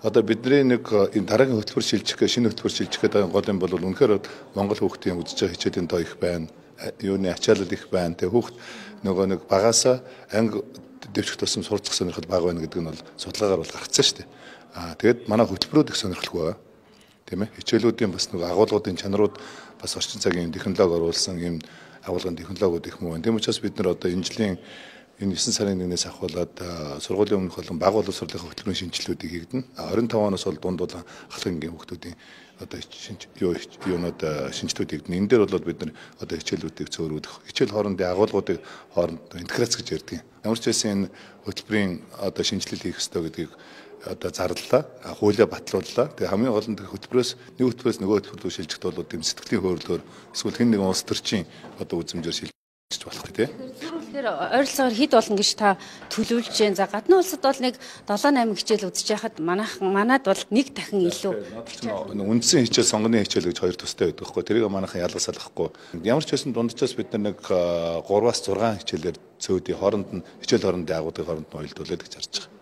Одоо бидний нэг энэ дараагийн хөтөлбөр шилжих гэх шинэ хөтөлбөр шилжих гэдэг гол юм бол үнэхээр Монгол хүүхдийн үзэж байгаа хичээлийн тоо их байна. Юуны ачаалал их байна. Тэгээ хүүхд нөгөө нэг багаасаа анги дэвших тусам сурцах сонирхол бага байна гэдэг нь бол судалгаагаар бол гаргацсан шүү дээ. Тэгээд манай хөтөлбөрүүд их сонирхолтой байна. Тийм ээ. Хичээлүүдийн бас нөгөө агуулгуудын чанарууд бас орчин цагийн технологи оруулсан юм агуулгын технологиуд их муу байна. Тийм учраас бид нар одоо энэ жилийн энэ 9 сарын 1-ээс ахуулаад сургуулийн өмнөх болон бага боловсролын хөтөлбөрийн шинжилгэүүдийг хийгдэнэ. 25 оноос бол дунд болон халахынгийн хүүхдүүдийн одоо юунууд шинжилгэүүд хийгдэнэ. Энэ дээр бол бид нар одоо хичээлүүдийг цөөрүүлэх, хичээл хоорондын агуулгуудыг хооронд интеграц гэж ярьдаг. Ямар ч байсан энэ хөтөлбөрийн одоо шинжилэл хийх ёстой гэдгийг одоо зарлалаа, хуулиа батлууллаа. Тэгээ хамгийн гол нь хөтөлбөрөөс нэг хөтөлбөрөөс нөгөө хөтөлбөр шилжихт бол тийм сэтгэлийн хөөрөлөөр эсвэл хэн нэгэн улс төрчийн одоо үзмжээр шилжиж болох тийм. Тэгэхээр ойролцоогоор хэд болно гэж та төлөвлөж जैन. За гадны улсад бол нэг 7-8 хичээл үзэж яхад манад бол нэг дахин илүү. Үндсэн хичээл, сонгоны хичээл гэж хоёр төстэй байдаг хгүй. Тэрийг манайхан ялгасаал ахгүй. Ямар ч байсан дунджаас бид нар нэг 3-6 хичээлээр цөөдийн хооронд нь хичээл хоорондын агуудын хооронд нь уялдуулаад гэж харж байгаа.